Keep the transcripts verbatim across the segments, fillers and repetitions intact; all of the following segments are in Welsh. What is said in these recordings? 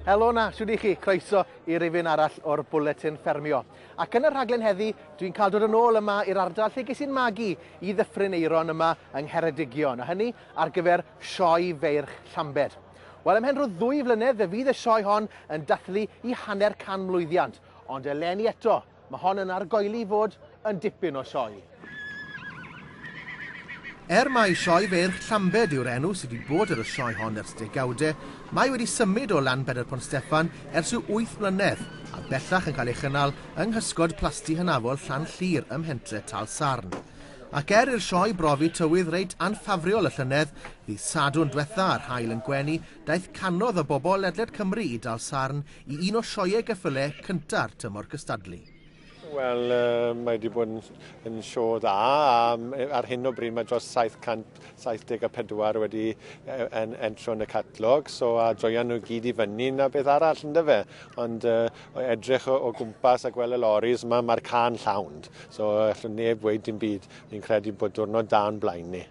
Helo na, shwd i chi? Croeso i rifyn arall o'r Bwletin Ffermio. Ac yn y rhaglen heddi, dwi'n cael dod yn ôl yma i'r ardal lle ges i'n magu i Ddyffryn Aeron yma yng Ngheredigion, a hynny ar gyfer Sioe Feirch Llambed. Wel, ymhen rhyw ddwy flynedd fe fydd y sioe hon yn dathlu i hanner can mlwyddiant, ond eleni eto, mae hon yn argoeli fod yn dipyn o sioe. Er mai Sioe Feirch Llambed yw'r enw sydd wedi bod ar y sioe hon ers degawdau, mae wedi symud o Lanbedr Pont Steffan ers rhyw wyth mlynedd, a bellach yn cael ei chynnal yng nghysgod plasty hynafol Llanllyr ym mhentre Talsarn. Ac er i'r sioe brofi tywydd reit anffafriol y llynedd, ddydd Sadwrn diwetha a'r haul yn gwenu, daeth cannoedd o bobl ledled Cymru i Dalsarn i un o sioeau geffylau cynta'r tymor cystadlu. Wel, uh, mae wedi bod yn, yn sioe dda, a ar hyn o bryd mae dros saith cant saith deg a pedwar wedi en, entro yn y catalog, so a joian nhw gyd i fyny na beth arall, ynddo fe. Ond uh, edrych o, o gwmpas a gweld y loris, mae'r ma can llawn, so allwn neb weud dim byd. Ni'n credu bod diwrnod da yn blaen ni.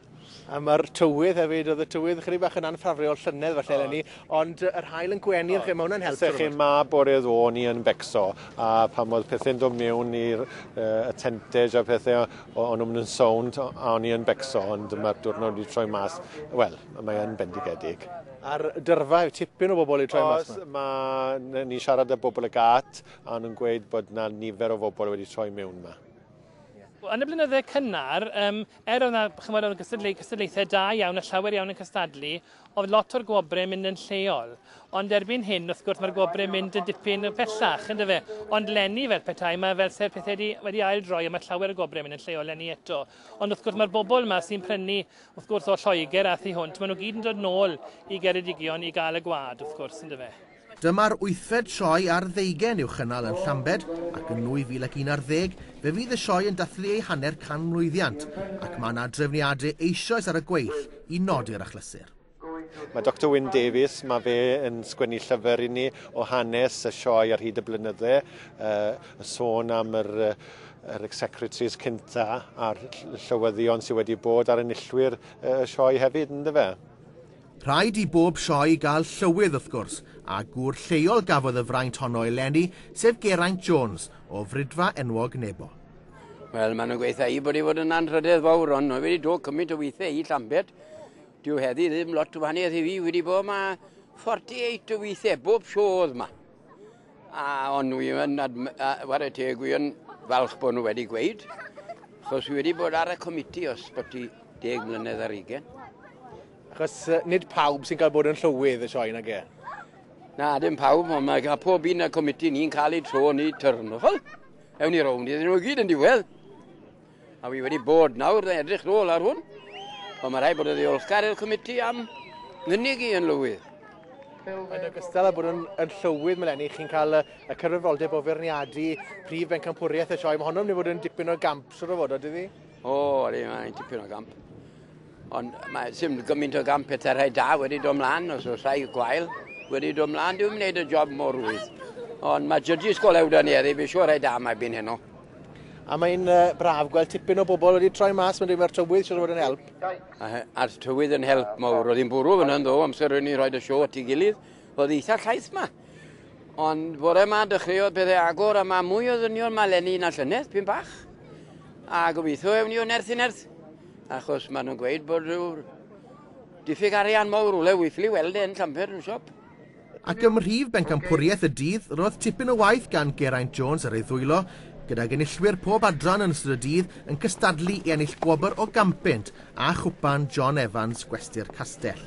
A mae'r tywydd hefyd, oedd y tywydd chydig bach yn anffafriol llynedd falle eleni, ond yr haul yn gwenu, mae hwnna'n help. Se chi ma bore ddo ni yn becso, a pan oedd pethau'n dod mewn i'r uh, y tentage a pethau, o'n nhw'n mynd yn sownd, a o'n i yn becso, ond mae'r diwrnod wedi troi mas, wel, mae yn bendigedig. A'r dyrfa, tipyn o bobl i troi mas ma? Ma, ni'n siarad â bobl y gat, a nhw'n gweud bod na nifer o bobl wedi troi mewn ma. Yn y blynydde cynnar, um, er oedd yna, chymod, oedd cystadlaethau da iawn a llawer iawn yn cystadlu, oedd lot o'r gwobrau mynd yn lleol. Ond erbyn hyn, wrth gwrs, mae'r gwobrau mynd yn dipyn pellach, ynddo fe? Ond leni fel petai, mae fel se'r pethau wedi, wedi aildroi a mae llawer o gwobrau mynd yn lleol leni eto. Ond wrth gwrs, mae'r bobl yma sy'n prynu, wrth gwrs, o Lloegr a thu hwnt, maen nhw gyd yn dod nôl i Geredigion i gael y gwad, wrth gwrs, ynddo fe? Dyma'r wythfed sioe ar ddeugain i'w chynnal yn Llambed, ac yn nwy fil ac un ar ddeg fe fydd y sioe yn dathlu ei hanner can mlwyddiant, ac mae yna drefniadau eisoes ar y gweill i nodi'r achlysur. Mae Doctor Wyn Davies, mae fe yn sgwennu llyfr i ni o hanes y sioe ar hyd y blynydde, uh, y sôn am yr, yr secretaries cynta a'r llywyddion sydd wedi bod ar enillwyr y sioe hefyd, ynddo fe? Rhaid i bob sioe gael llywydd wrth gwrs, a gŵr lleol gafodd y fraint honno eleni, sef Geraint Jones o Fridfa enwog Nebo. Wel, maen nhw'n gweithio i bod i fod yn anrhydedd fawr, ond nhw wedi dod cymaint o weithiau i Llambed. Dyw heddi ddim lot o wahaniaeth i fi, wedi bod ma forty-eight o weithiau, bob sioe oedd ma. A ond wi yn, ware teg, wi yn falch bod nhw wedi gweud, achos wi wedi bod ar y comiti os bod ti deg mlynedd ar ugain. Achos nid pawb sy'n cael bod yn llywydd y sioe nag e? Na, dim pawb, ond mae pob un y comiti ni'n cael ei tro ni tyrn. Ewn ni rownd iddyn nhw gyd yn diwedd. A wi wedi bod nawr yn edrych nôl ar hwn. Ond mae rhaid bod yn ddiolchgar i'r comiti am gynnig i yn lywydd. Yn ogystal â bod yn, yn llywydd eleni, chi'n cael y, y cyfrifoldeb o feirniadu prif bencampwriaeth y sioe. Mae honno'n mynd i fod yn dipyn o gamp, siŵr o fod, ydy ddi? O, ydy, mae'n dipyn o gamp. Ond mae sim gymaint o gamp pethau rhai da wedi dod mlaen, os oes rhai gwael wedi dod mlaen, dwi'n gwneud y job mor rwydd. Ond mae judges golew da ni heddi, fi siŵr rhai da mae byn heno. A mae'n uh, braf gweld tipyn o bobl wedi troi mas, mae'n dweud mae'r tywydd siŵr o fod yn help. A, a'r tywydd yn help mawr, oedd hi'n bwrw fan hyn ddo, amser o'n i'n rhoi y sioe at ei gilydd, oedd eitha llaith ma. Ond bore ma dechreuodd pethau agor a mae mwy o ddynion ma leni na llynedd, pyn bach. A gobeithio ewn ni o nerth i nerth. Achos maen nhw'n gweud bod rhyw diffyg arian mawr rhywle wythli weld e'n Llambed yn siop. Ac ym mhrif bencampwriaeth y dydd, roedd tipyn o waith gan Geraint Jones ar ei ddwylo, gydag enillwyr pob adran yn ystod y dydd yn cystadlu i ennill gwobr o gampynt a chwpan John Evans Gwesty'r Castell.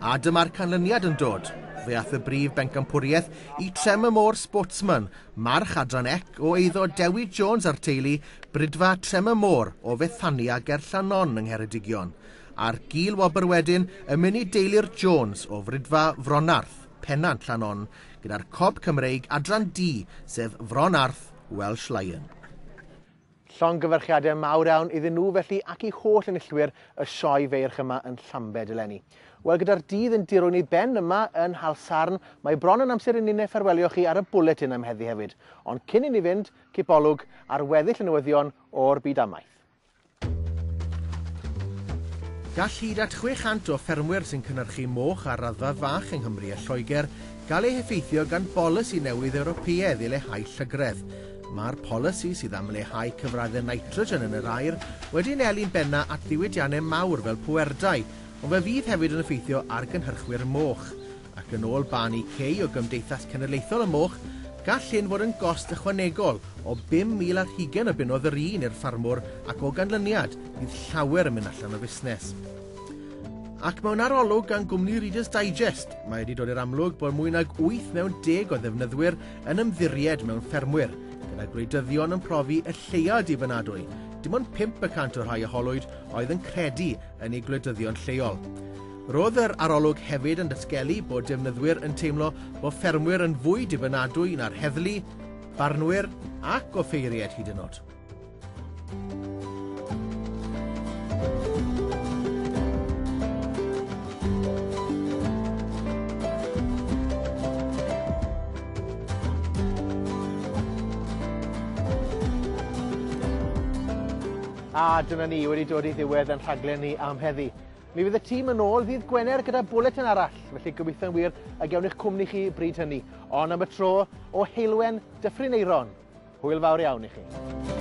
A dyma'r canlyniad yn dod. Fe ath y brif bencampwriaeth i Trem y Môr Sportsman, march adran ec o eiddo Dewi Jones a'r teulu, Bridfa Trem y Môr o Fethania ger Llanon yng Ngheredigion. A'r gil wobr wedyn yn mynd i deulu'r Jones o Fridfa Fronarth, Pennant Llanon, gyda'r Cob Cymreig adran D, sef Fronarth Welsh Lion. Llongyfarchiadau mawr iawn iddyn nhw felly ac i holl enillwyr y sioe feirch yma yn Llambed eleni. Wel, gyda'r dydd yn dirwyn i ben yma yn Nhalsarn, mae bron yn amser i ninne ffarwelio chi ar y bwletin am heddi hefyd. Ond cyn i ni fynd, cipolwg ar weddill y newyddion o'r byd amaeth. Gall hyd at chwe chant o ffermwyr sy'n cynhyrchu moch ar raddfa fach yng Nghymru a Lloegr gael eu heffeithio gan bolisi newydd Ewropeaidd i leihau llygredd. Mae'r polisi sydd am leihau cyfraddau nitrogen yn yr aer wedi anelu benna at ddiwydiannau mawr fel pwerdai, ond fe fydd hefyd yn effeithio ar gynhyrchwyr moch. Ac yn ôl Barney Kay o Gymdeithas Cenedlaethol y Moch, gall hyn fod yn gost ychwanegol o bum mil ar hugain o bunnoedd yr un i'r ffarmwr ac o ganlyniad bydd llawer yn mynd allan o fusnes. Ac mewn arolwg gan gwmni Reader's Digest, mae wedi dod i'r amlwg bod mwy nag wyth mewn deg o ddefnyddwyr yn ymddiried mewn ffermwyr, gyda gwleidyddion yn profi y lleia dibynadwy. Dim ond pump y cant o'r rhai a holwyd oedd yn credu yn eu gwleidyddion lleol. Roedd yr arolwg hefyd yn datgelu bod defnyddwyr yn teimlo bod ffermwyr yn fwy dibynadwy na'r heddlu, barnwyr ac offeiriaid hyd yn oed. A dyna ni wedi dod i ddiwedd yn rhaglen ni am heddi. Mi fydd y tîm yn ôl ddydd Gwener gyda bwletin arall, felly gobeithio'n wir y gewn eich cwmni chi bryd hynny. Ond am y tro, o Heulwen Dyffryn Aeron, hwyl fawr iawn i chi.